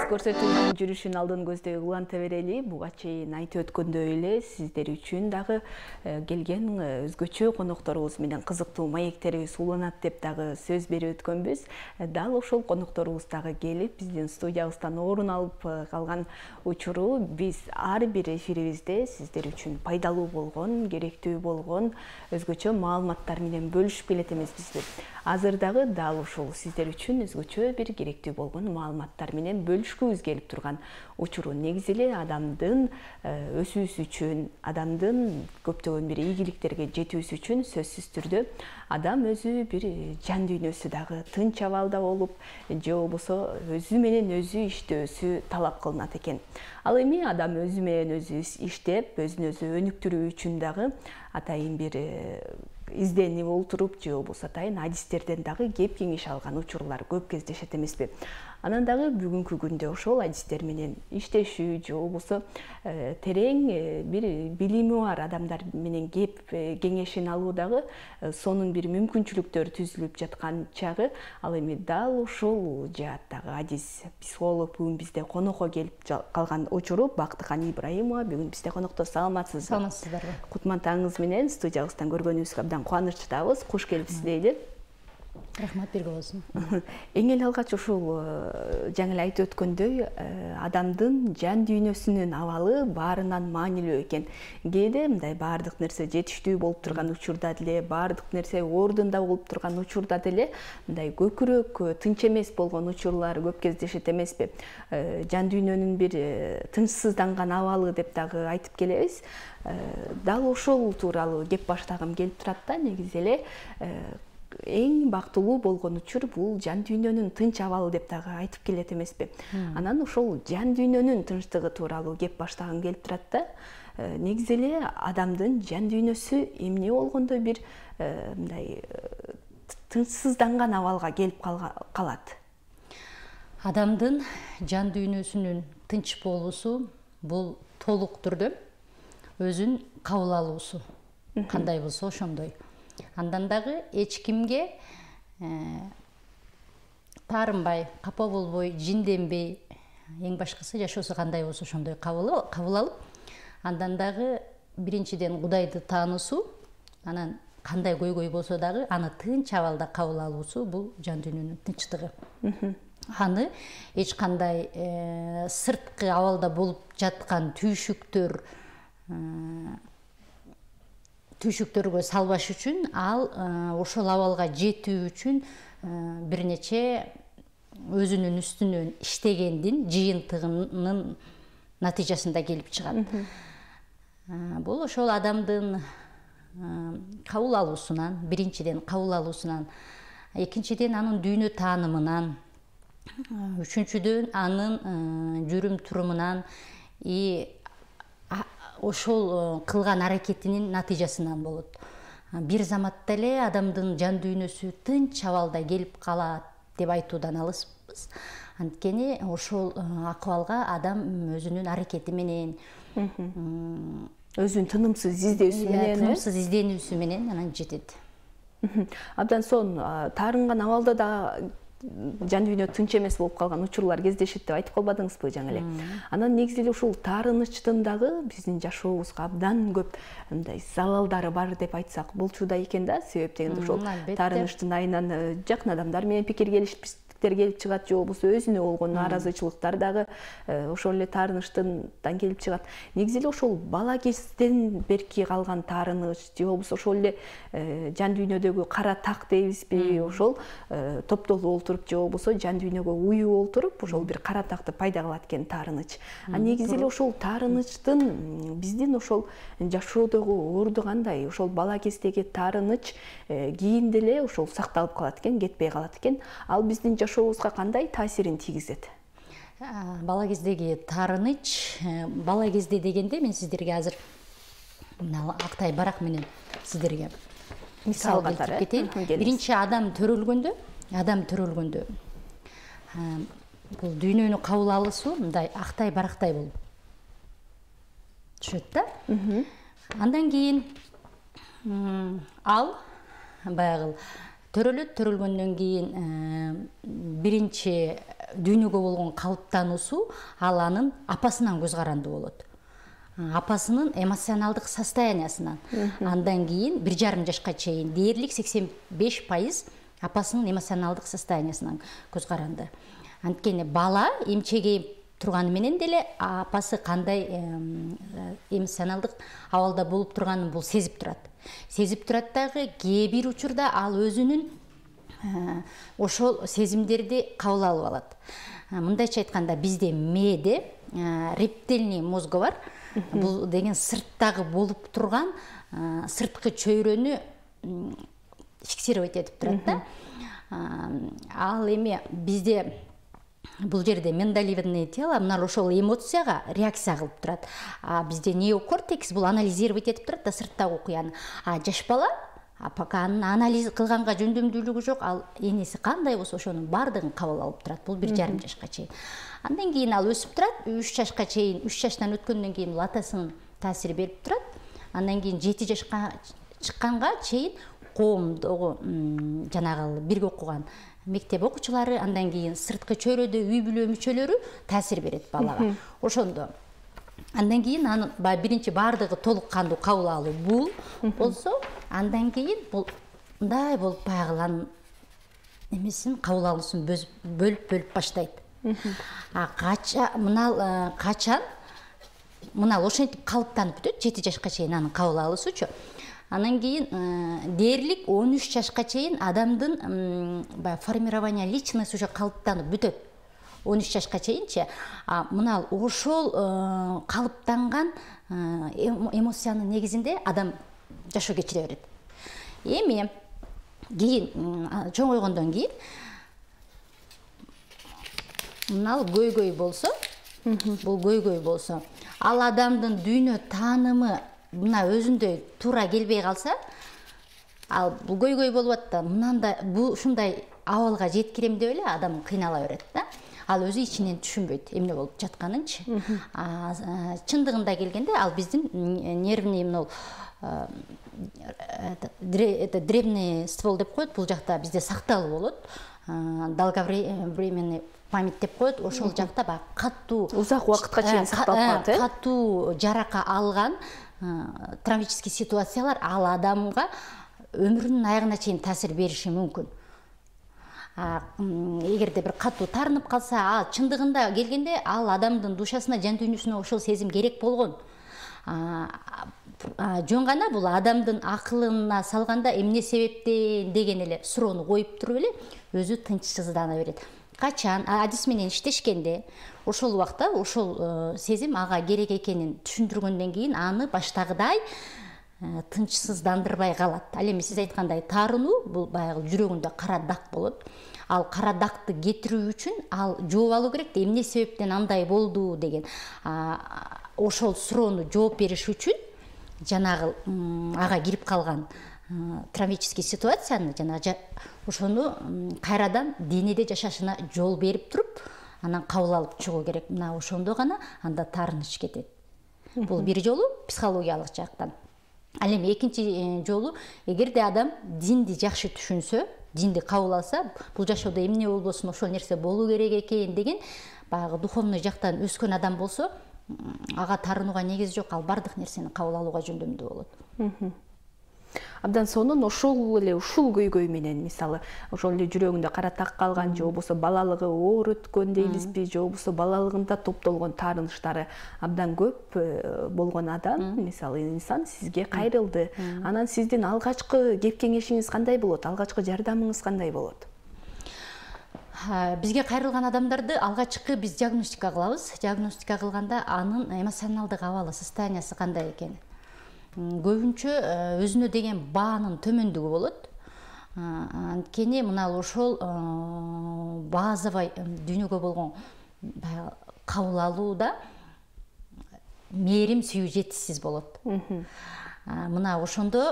көрсөтүүнүн жүрүшүн алдын көздөй уланта берели. Буга чейин айтып өткөндөй эле сиздер үчүн дагы келген өзгөчө конокторубуз менен кызыктуу маектерибиз уланат деп дагы сөз берип өткөнбүз. Дал ошол конокторубуз дагы келип биздин студиябыздан орун алып калган учуру биз ар бир эфирибизде сиздер үчүн пайдалуу болгон, керектүү болгон өзгөчө маалыматтар менен бөлүшүп келет эмеспизби? Азыр дагы дал ушул сиздер үчүн өзгөчө бир керектүү болгон маалыматтар менен бөлүшкүбүз келип турган учуру. Негизи эле адамдын өсүүсү үчүн, адамдын көптөгөн бир ийгиликтерге жетүүсү үчүн сөзсүз түрдө адам өзү бир жан дүйнөсү дагы тынч абалда болуп, же болбосо өзү менен өзү иштөөсү талап кылынат экен. Ал эми адам өзү менен өзү иштеп, өзүн өзү өнүктүрүү үчүн дагы атайын бир изденип олтуруп, же болбосо атайын адистерден дагы кеп кеңеш алган учурлар көп кездешет эмеспи? Анан дагы бүгүнкү күндө ошол адистер менен иштешүү, же болбосо терең бир билими бар адамдар менен кеп кеңешин алуу дагы сонун бир мүмкүнчүлүктөр түзүлүп жаткан чагы. Ал эми дал ушул жааттагы адис психолог бүгүн бизде конокко келип калган учуру Бактыкан Ибраимова бүгүн бизде конокто. Саламатсызбы? Саламатсыздарбы? Кутмандыгыңыз менен студиябыздан көргөнүбүзгө абдан кубанычтабыз. Куш келипсиз дейли. Рахмат, бирге болсун. Эң эле алгач ушул жаңы эле айтып өткөндөй, адамдын жан дүйнөсүнүн абалы баарынан маанилүү экен. Кээде мындай баардык нерсе жетиштүү болуп турган учурда деле, баардык нерсе ордунда болуп турган учурда деле мындай көкүрөк тынч эмес болгон учурлар көп кездешет эмеспи? Жан дүйнөнүн бир тынчсызданган абалы деп дагы айтып келебиз. Дал ошол тууралуу кеп баштагым келип турат да. Негизи эле эң бактылуу болгон учур бул жан дүйнөнүн тынч абалы деп дагы айтып келет эмеспи? Анан ошол жан дүйнөнүн тынчтыгы тууралуу кеп баштагым келип турат да. Негизи эле адамдын жан дүйнөсү эмне болгондо бир мындай тынчсызданган абалга келип калат? Адамдын жан дүйнөсүнүн тынч болуусу бул толук түрдө өзүн кабыл алуусу. Кандай болсо ошондой. Андан дагы эч кимге таарынбай, капа болбой, жинденбей, эң башкысы жашоосу кандай болсо ошондой кабыл алып, андан дагы биринчиден Кудайды таануусу, анан кандай көйгөй болсо дагы аны тынч абалда кабыл алуусу бул жан дүйнөнүн тынчтыгы. Аны эч кандай сырткы абалда болуп жаткан түйшүктөргө салбаш үчүн, ал ошол абалга жетүү үчүн бир нече өзүнүн үстүнөн иштегендин жыйынтыгынын натыйжасында келип чыгат. Бул ошол адамдын кабыл алуусунан, биринчиден кабыл алуусунан, экинчиден анын дүйнө таанымынан, үчүнчүдөн анын жүрүм турумунан ошол кылган аракетинин натыйжасынан болот. Бир заматта эле адамдын жан дүйнөсү тынч абалда келип калат деп айтуудан алыспыз. Анткени ошол акыбалга адам өзүнүн аракети менен, өзүнүн тынымсыз изденүүсү менен анан жетет. Абдан сонун таарынган абалда да жан дүйнө тынч эмес болуп калган учурлар кездешет деп айтып калбадыңызбы жаңы эле? Анан негизи эле ушул таарынычтын дагы биздин жашообузга абдан көп мындай залалдары бар деп айтсак болчу да экен да. Себеп дегенде ушул таарынычтын айынан жакын адамдар менен пикир келишпестиктер келип чыгат, же болбосо өзүнө болгон нааразычылыктар дагы ошол эле таарынычтан келип чыгат. Негизи эле ошол бала кезден берки калган таарыныч, же болбосо ошол эле жан дүйнөдөгү кара так дейбизби, ошол топтолуп олтуруп, же болбосо жан дүйнөгө уюп олтуруп, ошол бир кара такты пайда кылат экен таарыныч. Негизи эле ошол таарынычтын биздин ошол жашоодогу орду кандай? Ошол бала кездеги таарыныч кийин деле ошол сакталып калат экен, кетпей калат экен. Ал биздин жашообузга кандай таасирин тийгизет? Бала кездеги таарыныч, бала кезде дегенде мен сиздерге азыр Актай Барак менен сиздерге мисал келтирип кетейин. Биринчи адам төрөлгөндө бул дүйнөнү кабыл алуусу мындай Актай Барактай болуп түшөт да. Андан кийин ал баягы төрөлөт, төрөлгөндөн кийин биринчи дүйнөгө болгон калыптануусу ал анын апасынан көз каранды болот. Апасынын эмоционалдык состояниясынан. Андан кийин 1,5 жашка чейин дээрлик 85% апасынын эмоционалдык состояниясынан көз каранды. Анткени бала эмчеге турганы менен деле апасы кандай эмоционалдык абалда болуп турганын бул сезип турат. Сезип турат дагы кээ бир учурда ал өзүнүн ошол сезимдерди кабыл алып алат. Мындайча айтканда бизде мээде рептильный мозгу бар. Бул деген сырттагы болуп турган сырткы чөйрөнү фиксировать этип турат да. Ал эми бизде бул жерде миндалевидное тело мына ошол эмоцияга реакция кылып турат. Бизде неокортекс бул анализировать этип турат да сырттагы окуяны. Жаш бала пока анын анализ кылганга жөндөмдүүлүгү жок, ал энеси кандай болсо ошонун баардыгын кабыл алып турат. Бул 1,5 жашка чейин. Андан кийин ал өсүп турат, 3 жашка чейин, 3 жаштан өткөндөн кийин бул атасынын таасири берип турат. Андан кийин 7 жашка чыкканга чейин коомдогу жанагы бирге окуган мектеп окуучулары, андан кийин сырткы чөйрөдө үй бүлө мүчөлөрү таасир берет балага. Ошондо андан кийин анын биринчи баардыгы толук кандуу кабыл алуу бул болсо, андан кийин бул мындай болуп баягы анын эмесин кабыл алуусун бөлүп баштайт. Качан мына ошентип калыптанып бүтөт 7 жашка чейин анын кабыл алуусучу. Анан кийин дээрлик 13 жашка чейин адамдын формирование личности уже калыптанып бүтөт. 13 жашка чейинчи. Мына ошол калыптанган эмоциянын негизинде адам жашоо кечире берет. Эми кийин чоңойгондон кийин мына көйгөй болсо, бул көйгөй болсо, ал адамдын дүйнө таанымы мына өзүндөй туура келбей калса, ал бул көйгөй болуп атты. Мынандай бул ушундай абалга жеткирем деп эле адам кыйнала берет да. Ал өзү ичинен түшүнбөйт эмне болуп жатканынчы. Чындыгында келгенде ал биздин нервный древний ствол деп коет, бул жакта бизде сакталып болот. Долговременный память деп коет. Ошол жакта баягы катуу узак убакытка чейин сакталып калат, катуу жарака алган травматический ситуациялар ал адамга өмүрүнүн аягына чейин таасир бериши мүмкүн. Эгерде бир катуу таарынып калса, ал чындыгында келгенде ал адамдын душасына, жан дүйнөсүнө ошол сезим керек болгон. Жөн гана бул адамдын акылына салганда эмне себептен деген эле суроону коюп туруп эле өзү тынчсыздана берет. Качан адис менен иштешкенде ошол убакта ошол сезим ага керек экенин түшүндүргөндөн кийин аны баштагыдай тынчсыздандырбай калат. Ал эми сиз айткандай таарынуу бул баягы жүрөгүндө кара дак болот. Ал кара дакты кетирүү үчүн ал жооп алуу керек да, эмне себептен андай болду деген. Ошол суроону жооп бериш үчүн жанагы ага кирип калган травматический ситуацияны ошону кайрадан денеде жашашына жол берип туруп, анан кабыл алып чыгуу керек. Мына ошондо гана анда таарыныч кетет. Бул бир жолу психологиялык жактан. Ал эми экинчи жолу, эгерде адам динди жакшы түшүнсө, динди кабыл алса, бул жашоодо эмне болбосун ошол нерсе болуу керек экен деген баягы духовный жактан өскөн адам болсо, ага таарынууга негиз жок, ал бардык нерсени кабыл алууга жөндөмдүү болот. Абдан сонун ушул көйгөй менен, мисалы, ошол эле жүрөгүндө кара так калган, же болбосо балалыгы оор өткөн дейбизби, же болбосо балалыгында топтолгон таарынычтары абдан көп болгон адам, мисалы, инсан сизге кайрылды. Анан сиздин алгачкы кеп кеңешиңиз кандай болот? Алгачкы жардамыңыз кандай болот? Бизге кайрылган адамдарды алгачкы биз диагностика кылабыз. Диагностика кылганда анын эмоционалдык абалы, состояниясы кандай экени. Көбүнчө өзүнө деген баанын төмөндүгү болот. Анткени мына ошол базовый дүйнөгө болгон кабыл алууда мээрим сүйүү жетишсиз болот. Мына ошондо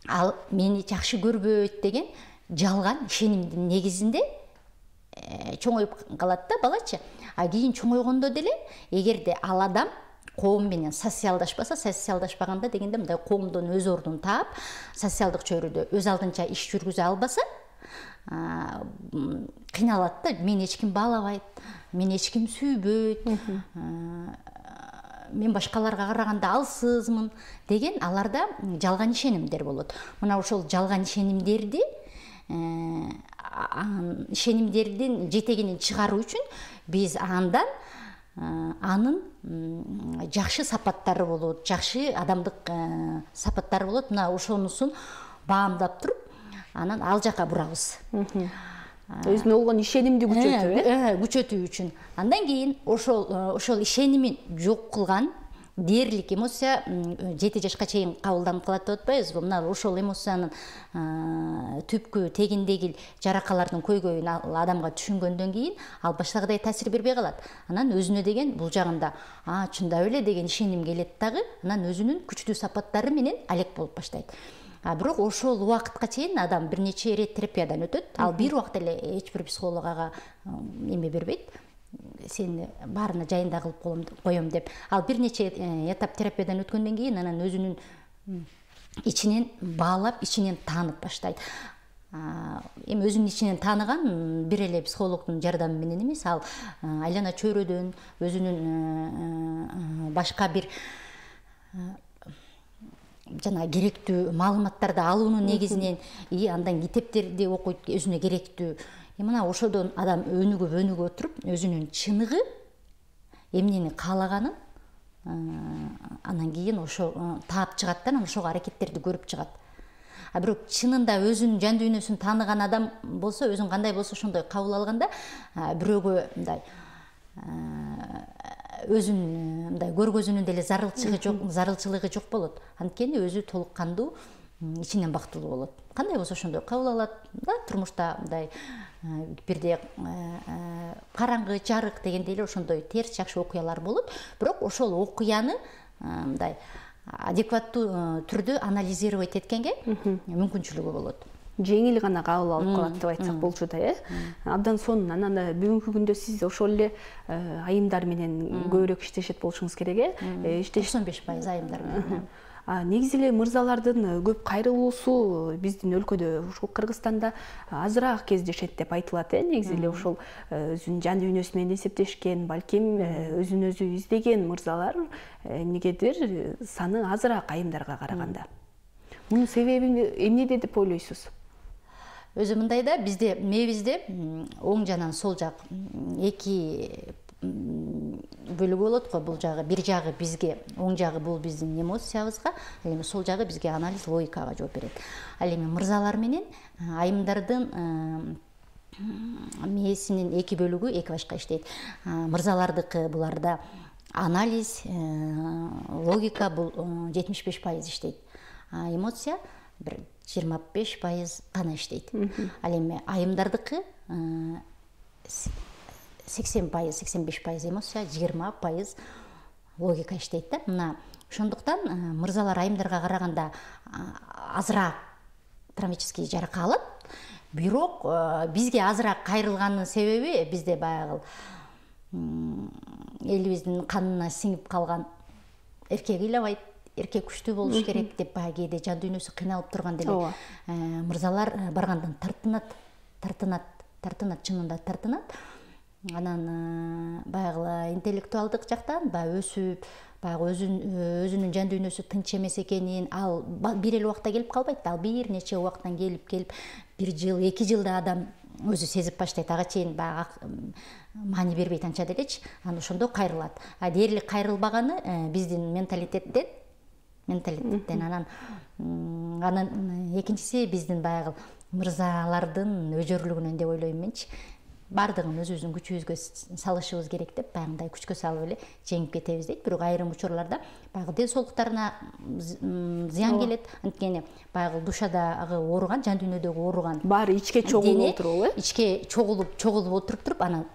ал мени жакшы көрбөйт деген жалган ишенимдин негизинде чоңоюп калат да балачы. Кийин чоңойгондо деле эгерде ал адам коом менен социалдашпаганда дегенде мындай коомдон өз ордун таап, социалдык чөйрөдө өз алдынча иш жүргүзө албаса, кыйналат да. Мени эч ким баалабайт, мени эч ким сүйбөйт, мен башкаларга караганда алсызмын деген аларда жалган ишенимдер болот. Мына ошол жалган ишенимдердин жетегинен чыгаруу үчүн биз андан анын жакшы сапаттары болот, жакшы адамдык сапаттары болот. Мына ошонусун баамдап туруп, анан ал жака бурабыз. Өзүнө болгон ишенимди күчөтүү үчүн. Андан кийин ошол ишенимин жок кылган дээрлик эмоция 7 жашка чейин кабылданып калат деп атпайбызбы? Мына ошол эмоциянын түпкү тегиндеги жаракалардын көйгөйүн адамга түшүнгөндөн кийин ал баштагыдай таасир бербей калат. Анан өзүнө деген бул жагында чындап эле деген ишеним келет дагы, анан өзүнүн күчтүү сапаттары менен алек болуп баштайт. Бирок ошол убакытка чейин адам бир нече ирет терапиядан өтөт. Ал бир убакта эле эч бир психолог ага эме бербейт. Сени баарына жайында кылып коем деп. Ал бир нече этап терапиядан өткөндөн кийин анан өзүнүн ичинен баалап, ичинен таанып баштайт. Эми өзүнүн ичинен тааныган бир эле психологдун жардамы менен эмес, ал айлана чөйрөдөн, өзүнүн башка бир жана керектүү маалыматтарды алуунун негизинен андан китептерди окуйт, өзүнө керектүү. Мына ошодон адам өнүгүп отуруп, өзүнүн чыныгы, эмнени каалаганын анан кийин ошо таап чыгат да, анан ошого аракеттерди көрүп чыгат. Бирок чынында өзүнүн жан дүйнөсүн тааныган адам болсо, өзүн кандай болсо ошондой кабыл алганда, бирөөгө мындай өзүнүн мындай көргөзүүнүн деле зарылчылыгы жок болот. Анткени өзү толук кандуу, ичинен бактылуу болот. Кандай болсо ошондой кабыл алат да, турмушта мындай бирде караңгы, жарык дегендей эле ошондой терс жакшы окуялар болот. Бирок ошол окуяны мындай адекваттуу түрдө анализировать эткенге мүмкүнчүлүгү болот. Жеңил гана кабыл алып калат деп айтсак болчу да, Абдан сонун. Анан бүгүнкү күндө сиз ошол эле айымдар менен көбүрөөк иштешет болушуңуз керек, 95% айымдар менен. Негизи эле мырзалардын көп кайрылуусу биздин өлкөдө, ушул Кыргызстанда азыраак кездешет деп айтылат. Негизи эле ошол өзүнүн жан дүйнөсү менен эсептешкен, балким өзүн өзү издеген мырзалар эмнегедир саны азыраак айымдарга караганда. Мунун себеби эмнеде деп ойлойсуз? Өзү мындай да, бизде мээбизде оң жанан сол жак эки бөлүгү болот го. Бул жагы, бир жагы бизге, оң жагы бул биздин эмоциябызга, ал эми сол жагы бизге анализ, логикага жооп берет. Ал эми мырзалар менен айымдардын мээсинин эки бөлүгү эки башка иштейт. Мырзалардыкы буларда анализ, логика бул 75% иштейт. Эмоция бир 25% гана иштейт. Ал эми айымдардыкы 80-85% эмоция, 20% логика иштейт да. Мына ошондуктан мырзалар айымдарга караганда азыраак травматический жарака алат. Бирок бизге азыраак кайрылганын себеби бизде баягы элибиздин канына сиңип калган эркек ыйлабайт, эркек күчтүү болуш керек деп баягы кээде жан дүйнөсү кыйналып турган деле мырзалар баргандан тартынат, чынында тартынат. Анан баягы интеллектуалдык жактан баягы өсүп, баягы өзүнүн жан дүйнөсү тынч эмес экенин, ал бир эле убакта келип калбайт. Ал бир нече убакыттан келип 1 жыл, 2 жылда адам өзү сезип баштайт. Ага чейин баягы маани бербейт анча делечи. Анан ошондо кайрылат. Дээрлик кайрылбаганы биздин менталитеттен. Анан экинчиси биздин баягы мырзалардын өжөрлүгүнөн деп ойлойм менчи. Бардыгын өзүбүздүн күчүбүзгө салышыбыз керек деп, баягындай күчкө салып эле жеңип кетебиз дейт. Бирок айрым учурларда баягы ден соолуктарына зыян келет. Анткени баягы душадагы ооруган, жан дүйнөдөгү ооруган баары ичке чогулуп отуруп, ичке чогулуп отуруп туруп, анан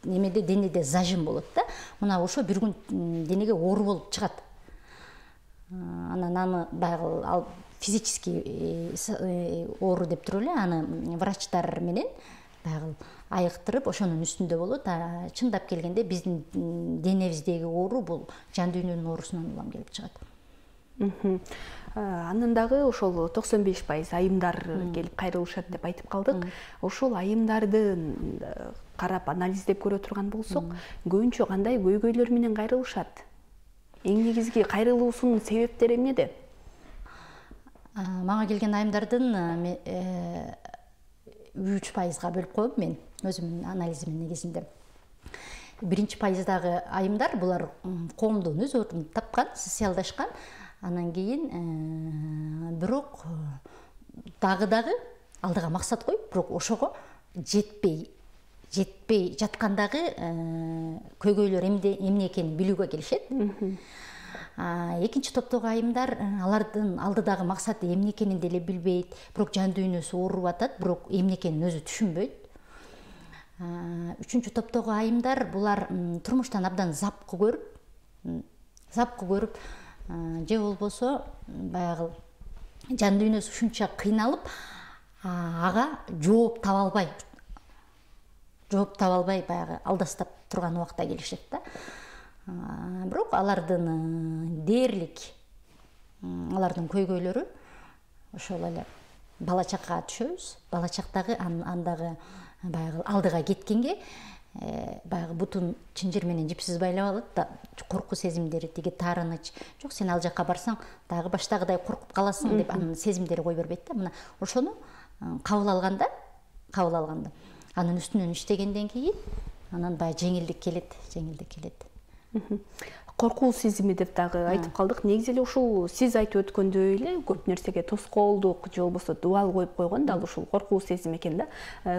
немеде денеде зажим болот да. Мына ошо бир күн денеге оору болуп чыгат. Анан аны баягы ал физический оору деп туруп эле аны врачтар менен баягы айыктырып ошонун үстүндө болот. Чындап келгенде биздин денебиздеги оору бул жан дүйнөнүн оорусунан улам келип чыгат. Анан дагы ошол 95% айымдар келип кайрылышат деп айтып калдык. Ошол айымдарды карап анализдеп көрө турган болсок, көбүнчө кандай көйгөйлөр менен кайрылышат? Эң негизги кайрылуусунун себептери эмнеде? Мага келген айымдардын 3%га бөлүп коем мен өзүмдүн анализимдин негизинде. 1%дагы айымдар булар коомдон өз ордун тапкан, социалдашкан. Анан кийин бирок дагы алдыга максат коюп, бирок ошого жетпей жаткандагы көйгөйлөр эмне экенин билүүгө келишет. Экинчи топтогу айымдар алардын алдыдагы максаты эмне экенин деле билбейт, бирок жан дүйнөсү ооруп атат, бирок эмне экенин өзү түшүнбөйт. Үчүнчү топтогу айымдар булар турмуштан абдан запкы көрүп, же болбосо баягы жан дүйнөсү ушунча кыйналып, ага жооп таба албай баягы алдастап турган убакта келишет да. Бирок алардын дээрлик алардын көйгөйлөрү ошол эле бала чакка түшөбүз. Бала чактагы андагы баягы алдыга кеткенге баягы бутун чынжыр менен жипсиз байлап алат да, коркуу сезимдери, тиги таарыныч, жок сен ал жакка барсаң дагы баштагыдай коркуп каласың деп анын сезимдери кой бербейт да. Мына ошону кабыл алганда анын үстүнөн иштегенден кийин анан баягы жеңилдик келет. Коркуу сезими деп дагы айтып калдык. Негизи эле ушул сиз айтып өткөндөй эле көп нерсеге тоскоолдук же болбосо дубал коюп койгон дал ушул коркуу сезим экен да.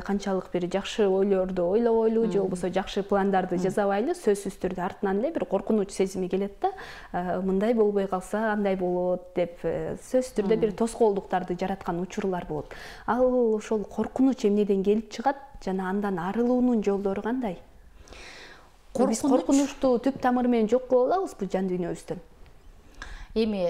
Канчалык бир жакшы ойлорду ойлобойлу же болбосо жакшы пландарды жасабайлы, сөзсүз түрдө артынан эле бир коркунуч сезими келет да. Мындай болбой калса андай болот деп сөзсүз түрдө бир тоскоолдуктарды жараткан учурлар болот. Ал ошол коркунуч эмнеден келип чыгат жана андан арылуунун жолдору кандай? Биз коркунучту түп тамыры менен жок кылып алабызбы жан дүйнөбүздөн? Эми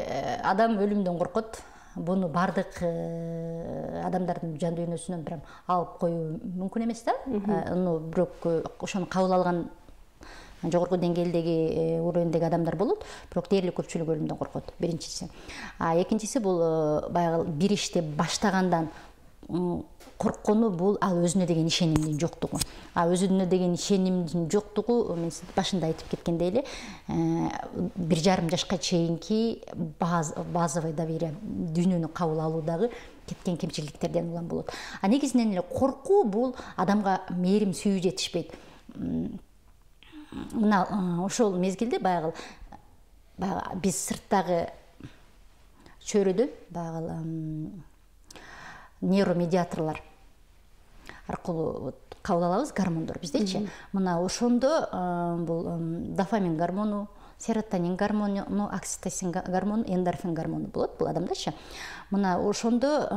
адам өлүмдөн коркот. Буну бардык адамдардын жан дүйнөсүнөн прям алып коюу мүмкүн эмес да. Бирок ошону кабыл алган жогорку деңгээлдеги уровендеги адамдар болот, бирок дээрлик көпчүлүк өлүмдөн коркот. Биринчиси. Экинчиси бул баягы бир ишти баштагандан корккону бул ал өзүнө деген ишенимдин жоктугу. Өзүнө деген ишенимдин жоктугу мен башында айтып кеткендей эле 1,5 жашка чейинки базовый доверие, дүйнөнү кабыл алуудагы кеткен кемчиликтерден улам болот. Негизинен эле коркуу бул адамга мээрим сүйүү жетишпейт. Мына ошол мезгилде баягы биз сырттагы чөйрөдөн баягы нейромедиаторлор аркылуу кабыл алабыз, гормондор биздечи. Мына ошондо бул дофамин гормону, серотонин гормону, окситоцин гормону, эндорфин гормону болот бул адамдачы. Мына ошондо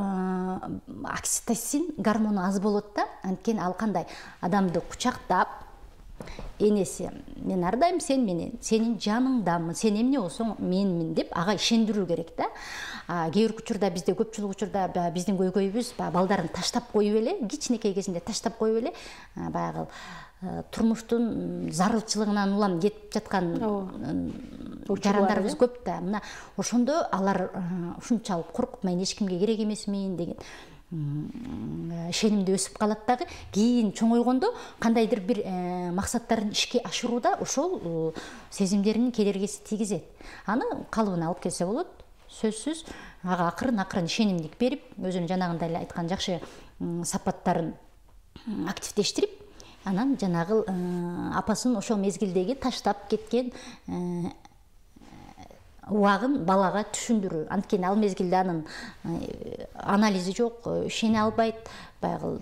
окситоцин гормону аз болот да. Анткени ал кандай? Адамды кучактап, энеси мен ардайым сен менен, сенин жаныңдамын, сен эмне болсоң менмин деп ага ишендирүү керек да. Кээ бир учурда бизде көпчүлүк учурда биздин көйгөйүбүз балдарын таштап коюп эле, кичинекей кезинде таштап коюп эле баягы турмуштун зарылчылыгынан улам кетип жаткан жарандарыбыз көп да. Мына ошондо алар ушунчалык коркуп мен эч кимге керек эмесмин деген ишенимде өсүп калат дагы. Кийин чоңойгондо кандайдыр бир максаттарын ишке ашырууда ошол сезимдеринин кедергиси тийгизет. Аны калыбына алып келсе болот. Сөзсүз ага акырын ишенимдик берип, өзүнүн жанагындай эле айткан жакшы сапаттарын активдештирип, анан жанагы апасын ошол мезгилдеги таштап кеткен убагын балага түшүндүрүү. Анткени ал мезгилде анын анализи жок, ишене албайт, баягы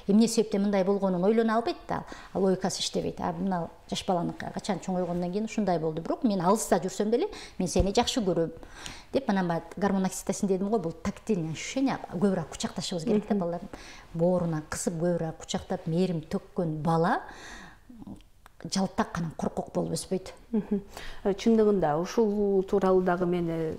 эмне себептен мындай болгонун ойлоно албайт да, логикасы иштебейт. Мына жаш баланы качан чоңойгондон кийин ушундай болду, бирок мен алыста жүрсөм деле мен сени жакшы көрөм деп анан гормон окситоцин дедим го, бул тактильный ощущение, көбүрөөк кучакташыбыз керек да балдардын. Бооруна кысып көбүрөөк кучактап мээрим төккөн бала жалтак анан коркок болуп өспөйт. Чындыгында ушул тууралуу дагы мен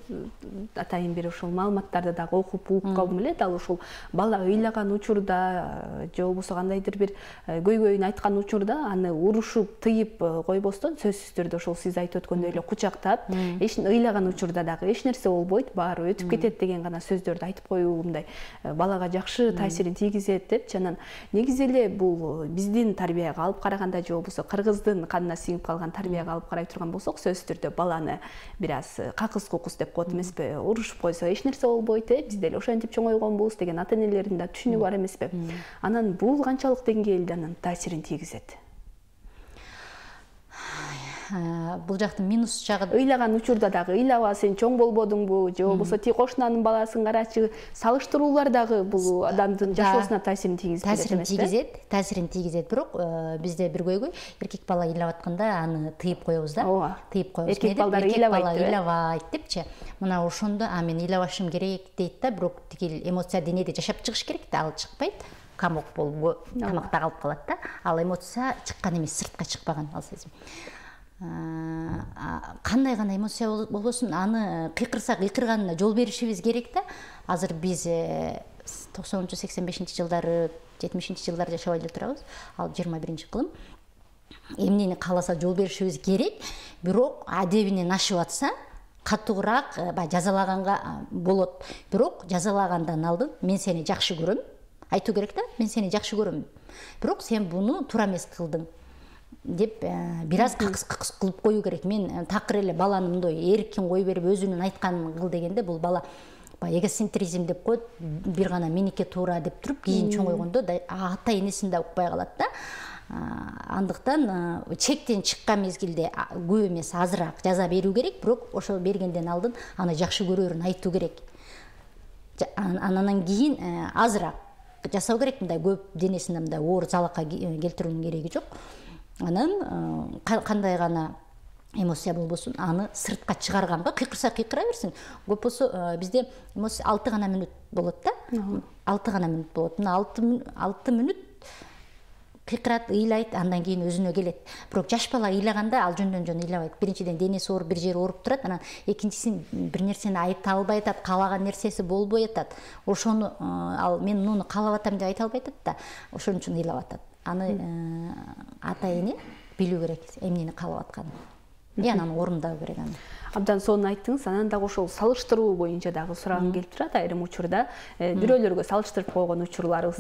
атайын бир ушул маалыматтарды дагы окуп угуп калдым эле. Дал ушул бала ыйлаган учурда же болбосо кандайдыр бир көйгөйүн айткан учурда аны урушуп тыйып койбостон сөзсүз түрдө ошол сиз айтып өткөндөй эле кучактап, ыйлаган учурда дагы эч нерсе болбойт, баары өтүп кетет деген гана сөздөрдү айтып коюу мындай балага жакшы таасирин тийгизет деп. Анан негизи эле бул биздин тарбияга алып караганда же болбосо кыргыздын канына сиңип калган тарбияга алып карай турган болсок, сөзсүз түрдө баланы бир аз какыс-кукус деп коет эмеспи? Урушуп койсо эч нерсе болбойт, биз деле ошентип чоңойгонбуз деген ата энелердин да түшүнүгү бар эмеспи? Анан бул канчалык деңгээлде анан таасирин тийгизет? Бул жактын минус жагы ыйлаган учурда дагы ыйлаба сен чоң болбодуңбу же болбосо ти кошунанын баласын карачы, салыштыруулар дагы бул адамдын жашоосуна таасирин тийгизет эмеспи? Таасирин тийгизет, бирок бизде бир көйгөй, эркек бала ыйлап атканда аны тыйып коебуз да. Тыйып коебуз. Эркек балдар ыйлабайт депчи. Мына ошондо мен ыйлабашым керек дейт да, бирок тигил эмоция денеде жашап чыгыш керек да, ал чыкпайт. Камок болуп тамакта калып калат да. Ал эмоция чыккан эмес, сыртка чыкпаган ал сезим. Кандай гана эмоция болбосун, аны кыйкырсак кыйкырганына жол беришибиз керек да. Азыр биз 90-85 жылдары, 70 жылдары жашабай эле турабыз. Ал 21-кылым. Эмнени кааласа жол беришибиз керек, бирок адебинен ашып атса катуураак жазалаганга болот. Бирок жазалагандан алдын мен сени жакшы көрөм. Айтуу керек да, мен сени жакшы көрөм. Бирок сен буну туура эмес кылдың деп бир аз какыс кылып коюу керек. Мен такыр эле баланы мындай эркин кой берип өзүнүн айтканын кыл дегенде бул бала эгоцентризм деп коет, бир гана меники туура деп туруп, кийин чоңойгондо ата энесин да укпай калат да. Андыктан чектен чыккан мезгилде көп эмес, азыраак жаза берүү керек, бирок ошол бергенден алдын аны жакшы көрөрүн айтуу керек. Анан кийин азыраак жасау керек, мындай көп денесине мындай оор залакка келтирүүнүн кереги жок. Анан кандай гана эмоция болбосун, аны сыртка чыгарганга кыйкырса кыйкыра берсин. Көп болсо бизде эмоция 6 гана мүнөт болот да. 6 гана мүнөт болот. Мына 6 мүнөт кыйкырат, ыйлайт, андан кийин өзүнө келет. Бирок жаш бала ыйлаганда ал жөндөн ыйлабайт. Биринчиден денеси ооруп, бир жери ооруп турат. Анан экинчисин бир нерсени айта албай атат, каалаган нерсеси болбой атат. Ошону ал мен муну каалап атам деп айта албай атат да. Ошон үчүн ыйлап атат. Аны ата эне билүү керек, эмнени каалап атканын. Анан орундоо керек аны. Абдан сонун айттыңыз. Анан дагы ошол салыштыруу боюнча дагы сурагым келип турат. Айрым учурда бирөөлөргө салыштырып койгон учурларыбыз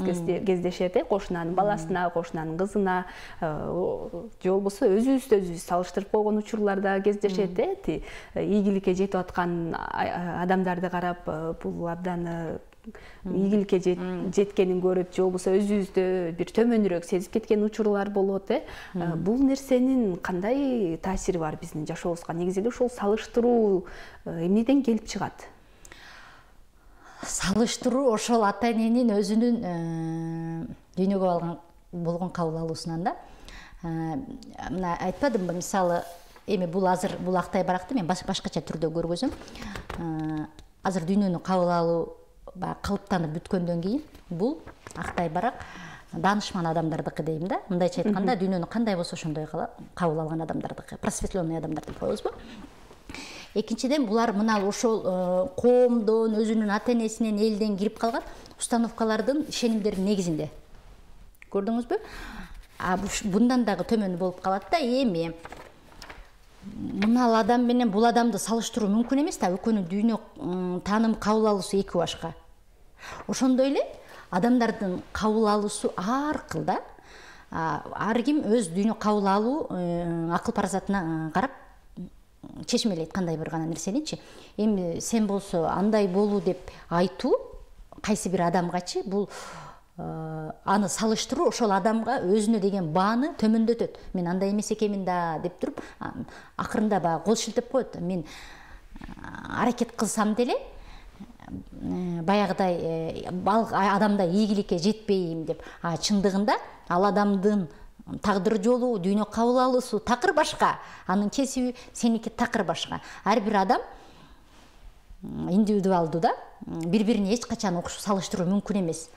кездешет, кошунанын баласына, кошунанын кызына, же болбосо өзүбүз салыштырып койгон учурлар да кездешет. Ийгиликке жетип аткан адамдарды карап, бул абдан ийгиликке жеткенин көрүп, же болбосо өзүбүздү бир төмөнүрөөк сезип кеткен учурлар болот. Бул нерсенин кандай таасири бар биздин жашообузга? Негизи эле ушул салыштыруу эмнеден келип чыгат? Салыштыруу ошол ата эненин өзүнүн дүйнөгө болгон кабыл алуусунан да. Мына айтпадымбы, мисалы, эми бул азыр бул актай баракты мен башкача түрдө көргөзөм. Азыр дүйнөнү кабыл алуу калыптанып бүткөндөн кийин бул актай барак даанышман адамдардыкы дейм да. Мындайча айтканда, дүйнөнү кандай болсо ошондой кабыл алган адамдардыкы, просветленный адамдар деп коебузбу. Экинчиден, булар мына ошол коомдон, өзүнүн ата энесинен, элден кирип калган установкалардын, ишенимдердин негизинде. Көрдүңүзбү? Bundan дагы төмөн болуп калат да. Эми мынал адам менен бул адамды салыштыруу мүмкүн эмес да. Экөөнүн дүйнө тааным кабыл алуусу эки башка. Ошондой эле адамдардын кабыл алуусу ар кыл да. Ар ким өз дүйнө кабыл алуу акыл паразатына карап чечмелейт кандай бир гана нерсеничи. Эми сен болсо андай болуу деп айтуу кайсы бир адамгачы бул аны салыштыруу ошол адамга өзүнө деген бааны төмөндөтөт. Мен андай эмес экенмин да деп туруп, акырында баягы кол шилтеп коет. Мен аракет кылсам деле баягыдай адамда ийгиликке жетпейм деп. Чындыгында ал адамдын тагдыр жолу, дүйнө кабыл алуусу такыр башка, анын кесиби сеники такыр башка. Ар бир адам индивидуалдуу да, бири-бирине эч качан салыштыруу мүмкүн эмес.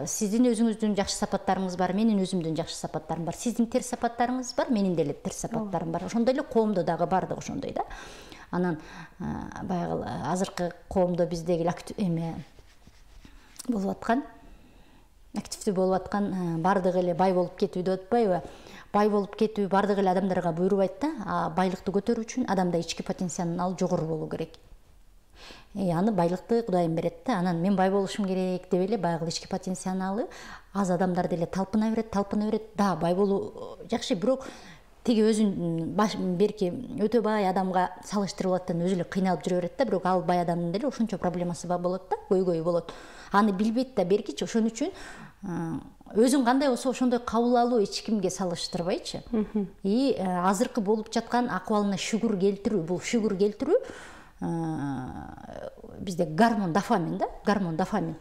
Сиздин өзүңүздүн жакшы сапаттарыңыз бар, менин өзүмдүн жакшы сапаттарым бар, сиздин терс сапаттарыңыз бар, менин деле терс сапаттарым бар. Ошондой эле коомдо дагы бардык ошондой да. Анан баягы азыркы коомдо биздеги болуп аткан, активдүү болуп аткан бардыгы эле бай болуп кетүү деп атпайбы? Бай болуп кетүү бардык эле адамдарга буйрубайт да. Байлыкты көтөрүү үчүн адамда ички потенциал жогору болуу керек. Аны байлыкты Кудайым берет да. Анан мен бай болушум керек деп эле баягы ички потенциалы аз адамдар деле талпына берет. Да, бай болуу жакшы, бирок тиги өзүн берки өтө бай адамга салыштырып алаттан өзү эле кыйналып жүрө берет да. Бирок ал бай адамдын деле ошончо проблемасы болот да, көйгөйү болот. Аны билбейт да беркичи. Ошон үчүн өзүң кандай болсо ошондой кабыл алуу эч кимге салыштырбайчы. Азыркы болуп жаткан акыбалына шүгүр келтирүү, бул шүгүр келтирүү бизде гормон дофамин да, гормон дофамин.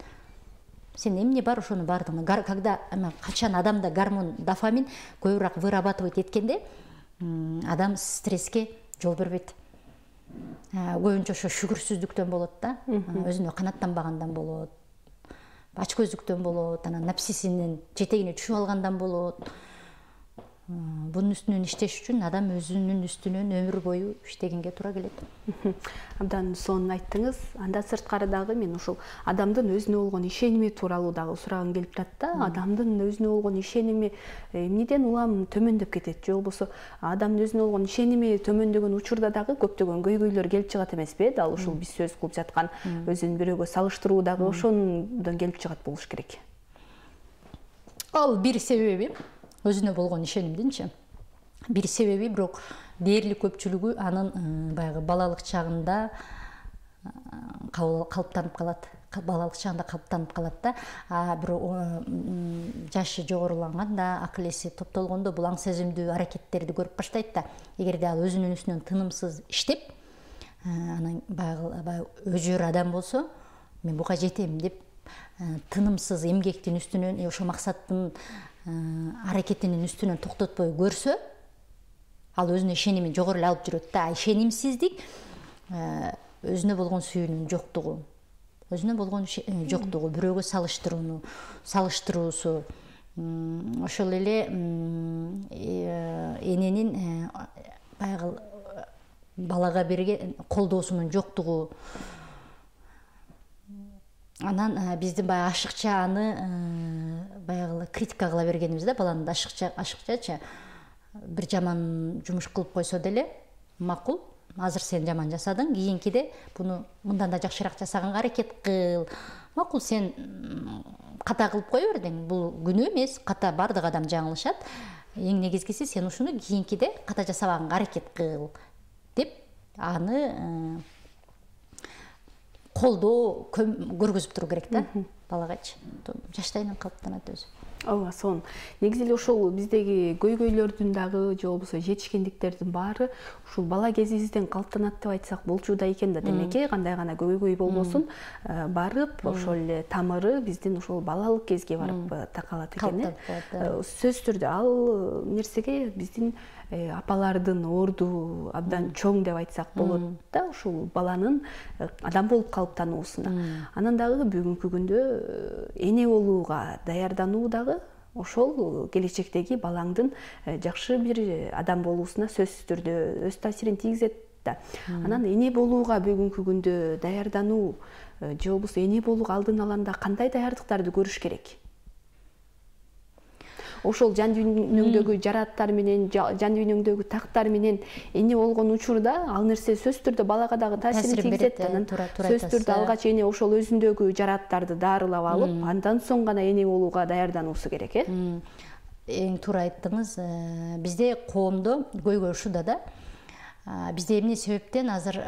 Сен эмне бар ошону бардыгы. Когда качан адамда гормон дофамин көбүрөөк вырабатывать эткенде адам стресске жол бербейт. Көбүнчө ошо шүгүрсүздүктөн болот да, өзүнө канааттанбагандан болот, ачкөздүктөн болот, анан напсисинин жетегине түшүп алгандан болот. Bunun üstünün işteş üçün adam özünün üstünün ömür boyu iştegенге тура келет. Абдан сонун айттыңыз. Анда сырткары дагы мен ушул адамдын өзүнө болгон ишеними тууралуу дагы сурагым келип турат да. Адамдын өзүнө болгон ишеними эмнеден улам төмөндөп кетет, же болбосо адамдын өзүнө болгон ишеними төмөндөгөн учурда дагы көптөгөн көйгөйлөр келип чыгат эмеспи? Дал ушул биз сөз кылып жаткан өзүн бирөөгө салыштыруу дагы ошондон келип чыгат болуш керек. Ал бир себеби өзүнө болгон ишенимдинчи бир себеби, бирок дээрлик көпчүлүгү анын баягы балалык чагында калыптанып калат. Балалык чагында калыптанып калат да. Бирок жашы жогоруланганда, акыл эси топтолгондо бул аң сезимдүү аракеттерди көрүп баштайт да. Эгерде ал өзүнүн үстүнөн тынымсыз иштеп, анан баягы өжөр адам болсо, мен буга жетем деп тынымсыз эмгектин үстүнөн, ошо максаттын аракетинин үстүнөн токтотпой көрсө, ал өзүнө ишенимин жогору алып жүрөт да. Ишенимсиздик өзүнө болгон сүйүүнүн жоктугу, өзүнө болгон жоктугу, бирөөгө салыштыруусу, ошол эле эненин баягы балага берген колдоосунун жоктугу. Анан биздин баягы ашыкча аны баягы критика кыла бергенибиз да, баланы ашыкчачы бир жаман жумуш кылып койсо деле макул, азыр сен жаман жасадың, кийинкиде буну мындан да жакшыраак жасаганга аракет кыл. Макул, сен ката кылып кое бердиң, бул күнөө эмес, ката бардык адам жаңылышат. Эң негизгиси сен ушуну кийинкиде ката жасабаганга аракет кыл деп аны колдоо көргөзүп туруу керек да балагачы. Жаштайынан калыптанат өзү. Ооба, сонун. Негизи эле ошол биздеги көйгөйлөрдүн дагы же болбосо жетишкендиктердин баары ушул бала кезибизден калыптанат деп айтсак болчу да экен да. Демек, кандай гана көйгөй болбосун, барып ошол эле тамыры биздин ошол балалык кезге барып такалат экен. Сөзсүз түрдө ал нерсеге биздин апалардын орду абдан чоң деп айтсак болот да, ушул баланын адам болуп калыптануусуна. Анан дагы бүгүнкү күндө эне болууга даярдануу дагы ошол келечектеги балаңдын жакшы бир адам болуусуна сөзсүз түрдө өз таасирин тийгизет да. Анан эне болууга бүгүнкү күндө даярдануу же болбосо эне болууга алдын аланда кандай даярдыктарды көрүш керек? Ошол жан дүйнөңдөгү жарааттар менен, жан дүйнөңдөгү тактар менен эне болгон учурда ал нерсе сөзсүз түрдө балага дагы таасирин тийгизет. Анан сөзсүз түрдө алгач эне ошол өзүндөгү жарааттарды дарылап алып, андан соң гана эне болууга даярдануусу керек, Эң туура айттыңыз. Бизде коомдо көйгөй ушуда да. Бизде эмне себептен азыр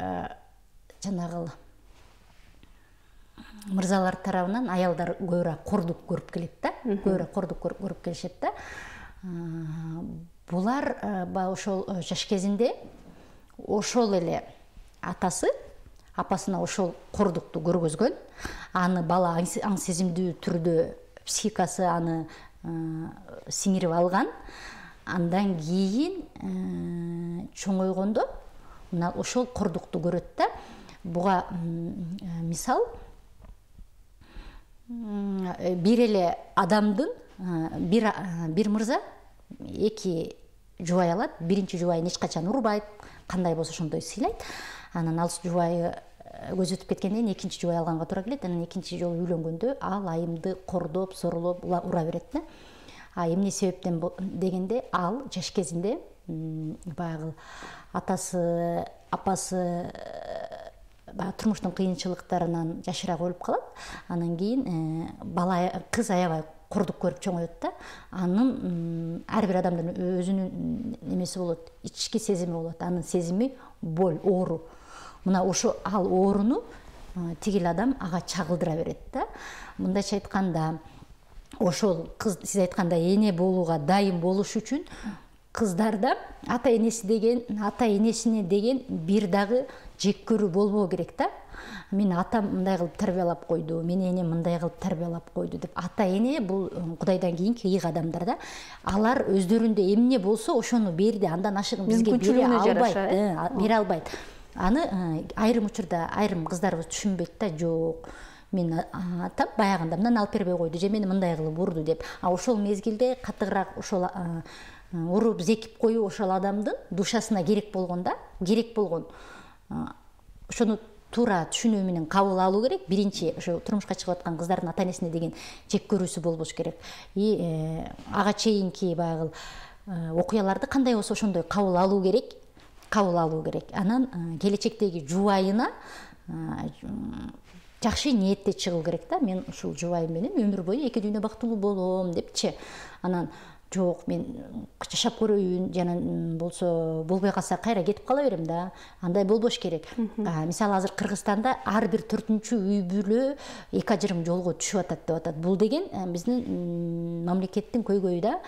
жанагы мырзалар тарабынан аялдар көбүрөөк кордук көрүп келет да, көбүрөөк кордук көрүп келишет да. Булар ошол жаш кезинде ошол эле атасы, апасына ошол кордукту көргөзгөн, аны бала аң сезимдүү түрдө психикасы аны сиңирип алган. Андан кийин чоңойгондо мына ошол кордукту көрөт да. Буга мисал бир эле адамдын бир мырза эки жубай алат. Биринчи жубайын эч качан урбайт, кандай болсо ошондой сыйлайт. Анан ал жубайы көз өтүп кеткенден кийин экинчи жубай алганга туура келет. Анан экинчи жолу үйлөнгөндө ал айымды кордоп, сорулоп ура берет да. Эмне себептен дегенде, ал жаш кезинде баягы атасы, апасы турмуштун кыйынчылыктарынан жашырак өлүп калат. Анан кийин кыз аябай кордук көрүп чоңойот да. Анын ар бир адамдын өзүнүн немеси болот, ички сезими болот. Анын сезими боль, оору. Мына ошо ал ооруну тигил адам ага чагылдыра берет да. Мындайча айтканда, ошол кыз сиз айткандай эне болууга дайым болуш үчүн кыздарда ата энесине деген бир дагы жек көрүү болбоо керек да. Мен атам мындай кылып тарбиялап койду, менин энем мындай кылып тарбиялап койду деп. Ата эне бул Кудайдан кийинки ыйык адамдар да. Алар өздөрүндө эмне болсо ошону берди, андан ашыгын бизге бере албайт. Аны айрым учурда айрым кыздарыбыз түшүнбөйт да. Жок, мен атам баягында мындан алып бербей койду, же мени мындай кылып урду деп. Ошол мезгилде катыгыраак ошол уруп зекип коюу ошол адамдын душасына керек болгон ошону туура түшүнүү менен кабыл алуу керек. Биринчи ошо турмушка чыгып аткан кыздардын ата энесине деген жек көрүүсү болбош керек. Ага чейинки баягы окуяларды кандай болсо ошондой кабыл алуу керек. Анан келечектеги жубайына жакшы ниетте чыгуу керек да. Мен ушул жубайым менен өмүр бою эки дүйнө бактылуу болом депчи. Анан жок, мен жашап көрөйүн, жана болсо болбой калса кайра кетип кала берем да. Андай болбош керек. Мисалы азыр Кыргызстанда ар бир 4-чү үй бүлө эки ажырым жолго түшүп атат деп атат. Бул деген биздин мамлекеттин көйгөйү да.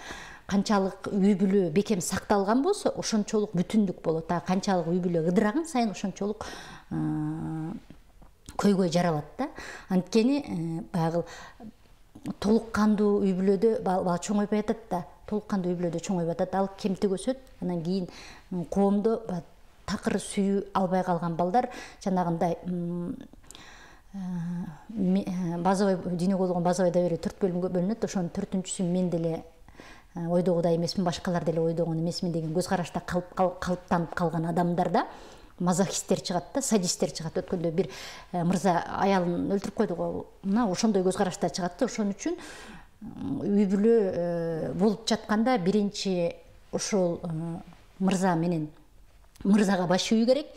Канчалык үй бүлө бекем сакталган болсо, ошончолук бүтүндүк болот. Канчалык үй бүлө ыдыраган сайын ошончолук көйгөй жаралат да. Анткени баягы толук кандуу үй бүлөдө бала чоңойбой атат да. Ал кемтик өсөт. Анан кийин коомдо такыр сүйүү албай калган балдар жанагындай базовый дүйнөгө болгон базовый доверие 4 бөлүмгө бөлүнөт. Ошонун 4-чүсү мен деле ойдогудай эмесмин, башкалар деле ойдогон эмесмин деген көз карашта калыптанып калган адамдарда мазохисттер чыгат да, садисттер чыгат. Өткөндө бир мырза аялын өлтүрүп койду го. Мына ошондой көз карашта чыгат да. Ошон үчүн үй бүлө болуп жатканда биринчи ошол мырза менен мырзага баш ийүү керек.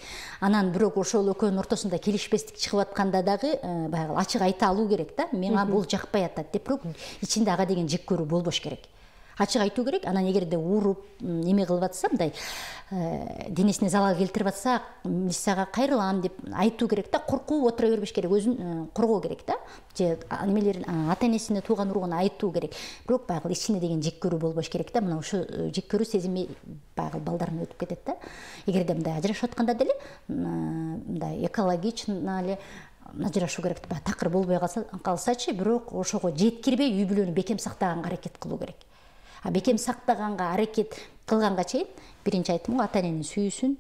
Анан бирок ошол экөөнүн ортосунда келишпестик чыгып атканда дагы баягы ачык айта алуу керек да. Мага бул жакпай атат деп, бирок ичинде ага деген жек көрүү болбош керек. Ачык айтуу керек. Анан эгерде уруп эме кылып атса, мындай денесине залал келтирип атса, миссияга кайрылам деп айтуу керек да. Коркуп отура бербеш керек, өзүн коргоо керек да. Же немелерин ата энесине тууган уругуна айтуу керек. Бирок баягы ичинде деген жек көрүү болбош керек да. Мына ошо жек көрүү сезими баягы балдардан өтүп кетет да. Эгерде мындай ажырашып атканда деле мындай экологично эле ажырашуу керек. Такыр болбой калсачы, бирок ошого жеткирбей үй бүлөнү бекем сактаганга аракет кылуу керек. Бекем сактаганга аракет кылганга чейин биринчи айттым го, ата эненин сүйүүсүн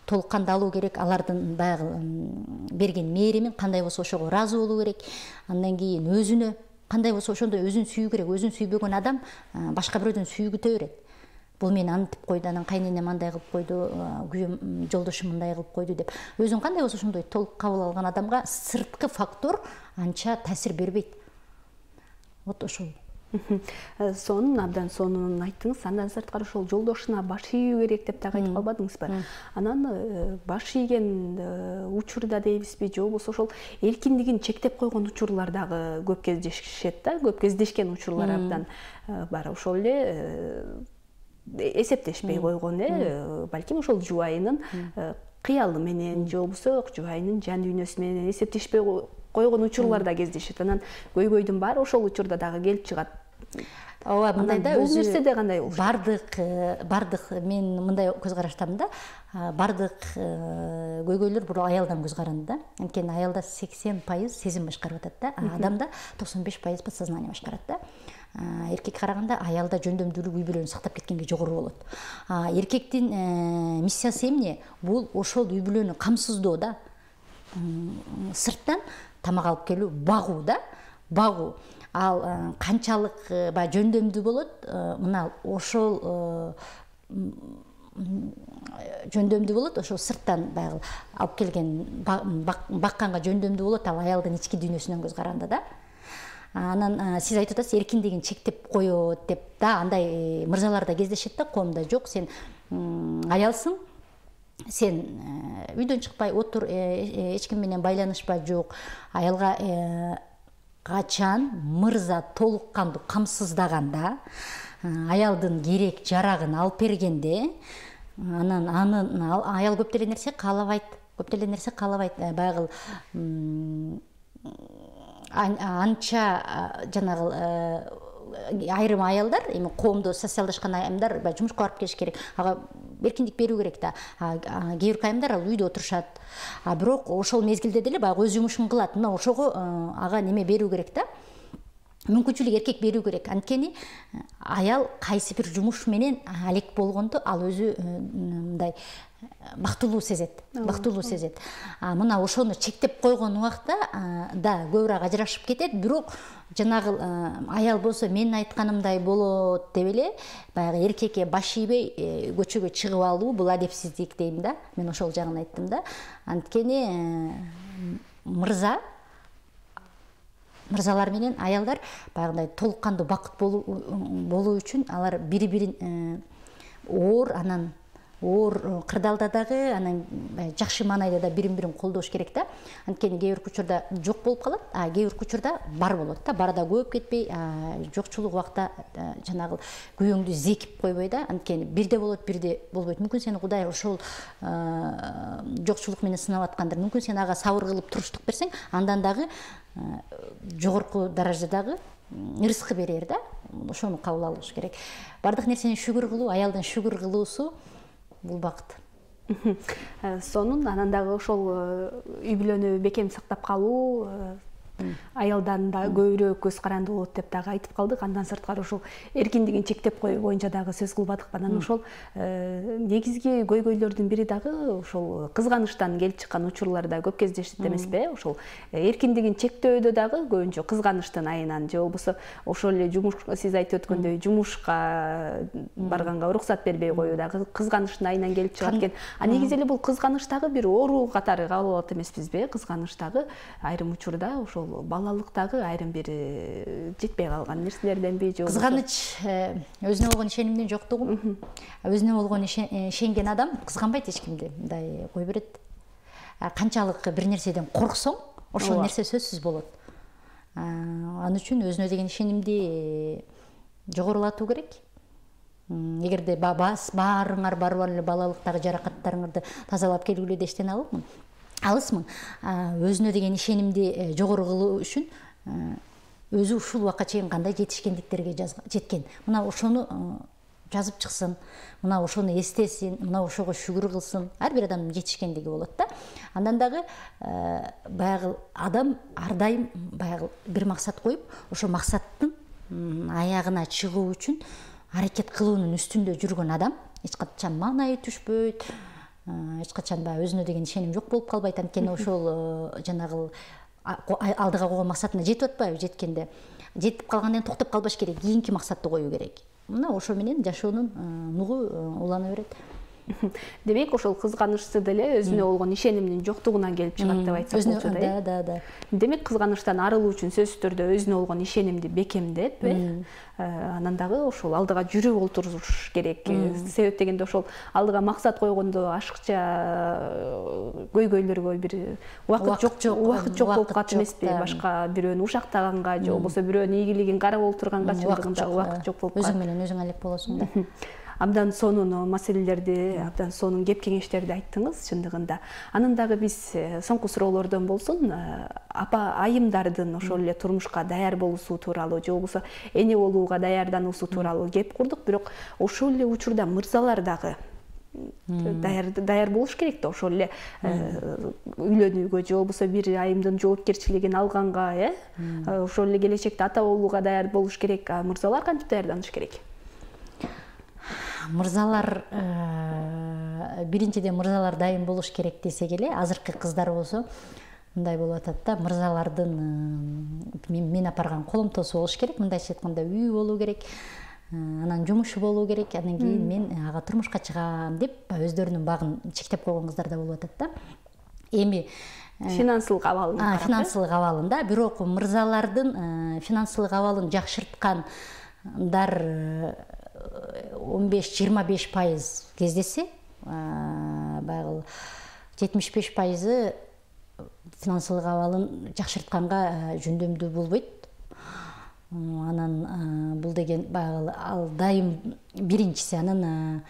толук кандуу алуу керек. Алардын баягы берген мээримин кандай болсо ошого ыраазы болуу керек. Андан кийин өзүнө кандай болсо ошондой өзүн сүйүү керек. Өзүн сүйбөгөн адам башка бирөөдөн сүйүү күтө берет. Бул мени антип койду, анан кайненем андай кылып койду, күйөөм жолдошум мындай кылып койду деп. Өзүн кандай болсо ошондой толук кабыл алган адамга сырткы фактор анча таасир бербейт. Вот ошол. Абдан сонун айттыңыз. Андан сырткары ошол жолдошуна баш ийүү керек деп дагы айтып калбадыңызбы? Анан баш ийген учурда дейбизби, же болбосо ошол эркиндигин чектеп койгон учурлар дагы көп кездешет да. Көп кездешкен учурлар абдан бар. Ошол эле эсептешпей койгон, балким ошол жубайынын кыялы менен, же болбосо жубайынын жан дүйнөсү менен эсептешпей койгон учурлар да кездешет. Анан көйгөйдүн баары ошол учурда дагы келип чыгат. Ооба, мындайда бул нерседе кандай болуш? Бардык мен мындай көз караштамын да. Бардык көйгөйлөр бул аялдан көз каранды да. Анткени аялда 80% сезим башкарып атат да. Адамда 95% подсознание башкарат да. Эркекке караганда аялда жөндөмдүүлүк үй бүлөнү сактап кеткенге жогору болот. Эркектин миссиясы эмне? Бул ошол үй бүлөнү камсыздоо да. Сырттан тамак алып келүү, багуу да. багуу. Ал канчалык баягы жөндөмдүү болот, мына ошол жөндөмдүү болот, ошол сырттан баягы алып келген бакканга жөндөмдүү болот, ал аялдын ички дүйнөсүнөн көз караганда да. Анан сиз айтып атасыз, эркиндигин чектеп коет деп да, андай мырзалар да кездешет да коомдо. Жок, сен аялсың, сен үйдөн чыкпай отур, эч ким менен байланышпа, жок. Аялга качан мырза толук кандуу камсыздаганда, аялдын керек жарагын алып бергенде, анан аял көп деле нерсе каалабайт, баягы анча жанагы айрым аялдар, эми коомдо социалдашкан аялдар баягы жумушка барып келиш керек, ага эркиндик берүү керек да. Кээ бир айымдар ал үйдө отурушат, бирок ошол мезгилде деле баягы өз жумушун кылат. Мына ошого ага неме берүү керек да, мүмкүнчүлүк эркек берүү керек. Анткени аял кайсы бир жумуш менен алек болгондо ал өзү мындай бактылуу сезет. Мына ошону чектеп койгон убакта да көбүрөөк ажырашып кетет, бирок жанагы аял болсо менин айтканымдай болот деп эле баягы эркекке баш ийбей көчөгө чыгып алуу, бул адепсиздик дейм да. Мен ошол жагын айттым да. Анткени мырзалар менен аялдар баягындай толук кандуу бакыт болуу үчүн алар бири-бирин оор кырдаалда дагы, анан жакшы маанайда да бирин-бирин колдош керек да. Анткени кээ бир учурда жок болуп калат, кээ бир учурда бар болот да. Бар да көп кетпей, жокчулук убакта жанагы күйөөңдү зекип койбой да. Анткени бирде болот, бирде болбойт. Мүмкүн сени Кудай ошол жокчулук менен сынап аткандыр. Мүмкүн сен ага сабыр кылып туруштук берсең, андан дагы жогорку даражадагы рызкы берер да. Ошону кабыл алыш керек. Бардык нерсени шүгүр кылуу, аялдын шүгүр кылуусу бул бакыт. Сонун анан дагы ошол үй бүлөнү бекем сактап калуу аялдан да көбүрөөк көз каранды болот деп дагы айтып калдык. Андан сырткары ошол эркиндигин чектеп коюу боюнча дагы сөз кылбадык. Анан ошол негизги көйгөйлөрдүн бири дагы ошол кызганычтан келип чыккан учурлар да көп кездешет эмеспи? Ошол эркиндигин чектөөдө дагы көбүнчө кызганычтын айынан же болбосо ошол эле жумуш, сиз айтып өткөндөй жумушка барганга уруксат бербей коюу дагы кызганычтын айынан келип чыгат экен. Негизи эле бул кызганыч дагы бир оору катары кабыл алат эмеспизби? Кызганыч дагы айрым учурда ошол балалыктагы айрым бир жетпей калган нерселерденби же кызганыч өзүнө болгон ишенимдин жоктугу. Өзүнө болгон ишенген адам кызганбайт эч кимди, мындай кой берет. Канчалык бир нерседен корксоң, ошол нерсе сөзсүз болот. Ал үчүн өзүнө деген ишенимди жогорулатуу керек. Эгерде баарыңар барып эле балалыктагы жаракаттарыңарды тазалап келгүлө дештен алысмын. Өзүнө деген ишенимди жогору кылуу үчүн өзү ушул убакка чейин кандай жетишкендиктерге жеткен. Мына ошону жазып чыксын, мына ошону эстесин, мына ошого шүгүр кылсын. Ар бир адамдын жетишкендиги болот да. Андан дагы баягы адам ар дайым баягы бир максат коюп, ошо максаттын аягына чыгуу үчүн аракет кылуунун үстүндө жүргөн адам эч качан маанайы түшпөйт, эч качан өзүнө деген ишеним жок болуп калбайт. Анткени ошол жанагы алдыга койгон максатына жетип атпайбы? Жеткенде жетип калгандан кийин токтоп калбаш керек, кийинки максатты коюу керек. Мына ошо менен жашоонун нугу улана берет. Демек ошол кызганычты деле өзүнө болгон ишенимдин жоктугунан келип чыгат деп айтсак болчу да. Да. Демек кызганычтан арылуу үчүн сөзсүз түрдө өзүнө болгон ишенимди бекемдеп, анан дагы ошол алдыга жүрүп олтуруш керек. Себеп дегенде ошол алдыга максат койгондо ашыкча көйгөйлөргө бир убакыт жок болуп калат эмеспи? Башка бирөөнү ушактаганга же болбосо бирөөнүн ийгилигин карап олтурганга чындыгында убакыт жок болуп калат. Өзүң менен өзүң алек болосуң да. Абдан сонун маселелерди, абдан сонун кеп кеңештерди айттыңыз чындыгында. Анан дагы биз соңку суроолордон болсун, апа айымдардын ошол эле турмушка даяр болуусу тууралуу же болбосо эне болууга даярдануусу тууралуу кеп курдук, бирок ошол эле учурда мырзалар дагы даяр болуш керек да, ошол эле үйлөнүүгө же болбосо бир айымдын жоопкерчилигин алганга, ошол эле келечекте ата болууга даяр болуш керек. Мырзалар кантип даярданыш керек? Мырзалар биринчиден мырзалар дайым болуш керек десек эле, азыркы кыздар болсо мындай болуп атат да, мырзалардын мен апарган коломтосу болуш керек, мындайча айтканда үй болуу керек, анан жумушу болуу керек, андан кийин мен ага турмушка чыгам деп өздөрүнүн багын чектеп койгон кыздар да болуп атат да. Эми финансылык абалын карап, финансылык абалында, бирок мырзалардын финансылык абалын жакшырткандар 15-25% кездесе, баягы 75% финансылык абалын жакшыртканга жөндөмдүү болбойт. Анан бул деген баягы ал дайым биринчиси, анан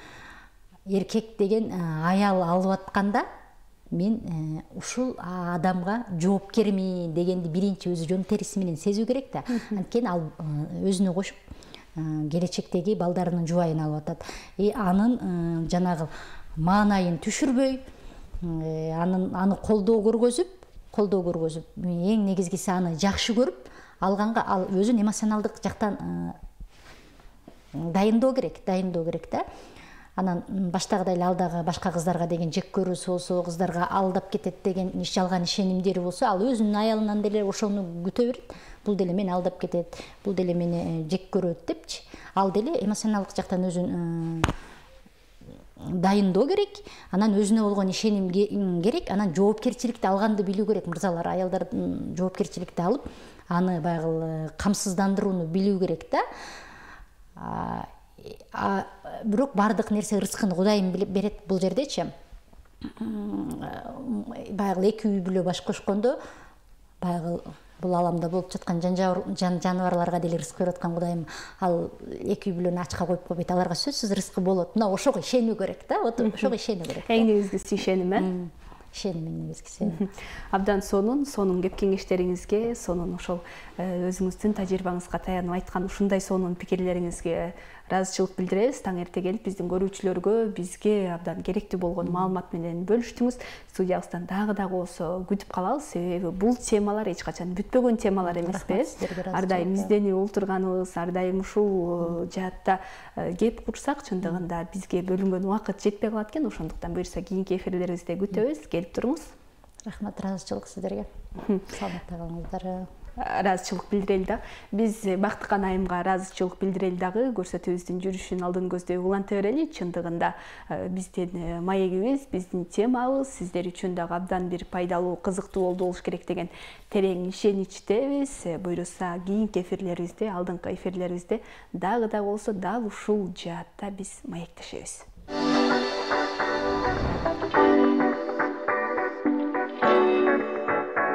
эркек деген аял алып атканда мен ушул адамга жоопкермин дегенди биринчи өзү жон териси менен сезүү керек да. Анткени ал өзүнө кошуп келечектеги балдарынын жубайын алып атат. Анын жанагы маанайын түшүрбөй, аны колдоо көргөзүп, эң негизгиси аны жакшы көрүп алганга ал өзүн эмоционалдык жактан дайындоо керек да. Анан баштагыдай эле алдагы башка кыздарга деген жек көрүүсү болсо, кыздарга алдап кетет деген жалган ишенимдери болсо, ал өзүнүн аялынан деле ошону күтө берет. Бул деле мени алдап кетет, бул деле мени жек көрөт депчи. Ал деле эмоционалдык жактан өзүн дайындоо керек. Анан өзүнө болгон ишеним керек. Анан жоопкерчиликти алганды билүү керек. Мырзалар, аялдардын жоопкерчиликти алып, аны баягы камсыздандырууну билүү керек да. Бирок бардык нерсе рызкын Кудайым берет бул жердечи. Баягы эки үй бүлө баш кошкондо, баягы бул аламда болуп жаткан жаныбарларга деле рызык берип аткан Кудайым ал эки үй бүлөнү ачка коюп койбойт. Аларга сөзсүз рызкы болот. Мына ошого ишенүү керек да. Ошого ишенүү керек. Эң негизгиси ишеним, ишеним эң негизгиси. Абдан сонун кеп кеңештериңизге, сонун ошол өзүңүздүн тажрыйбаңызга таянып айткан ушундай сонун пикирлериңизге ыраазычылык билдиребиз. Таң эрте келип биздин көрүүчүлөргө бизге абдан керектүү болгон маалымат менен бөлүштүңүз. Студиябыздан дагы болсо күтүп калабыз, себеби бул темалар эч качан бүтпөгөн темалар эмеспи. Ар дайым изденип олтурганыбыз, ар дайым ушул жаатта кеп курсак, чындыгында бизге бөлүнгөн убакыт жетпей калат экен. Ошондуктан буюрса кийинки эфирлерибизде күтөбүз. Келип туруңуз. Рахмат, ыраазычылык сиздерге. Саламатта калыңыздар. Ыраазычылык билдирели да. Биз Бактыкан айымга ыраазычылык билдирели дагы. Көрсөтүүбүздүн жүрүшүн алдын көздөй уланта берели. Чындыгында биздин маегибиз, биздин темабыз сиздер үчүн дагы абдан бир пайдалуу, кызыктуу болуш керек деген терең ишеничтебиз. Буюрса кийинки эфирлерибизде, алдыңкы эфирлерибизде дагы болсо дал ушул жаатта биз маектешебиз.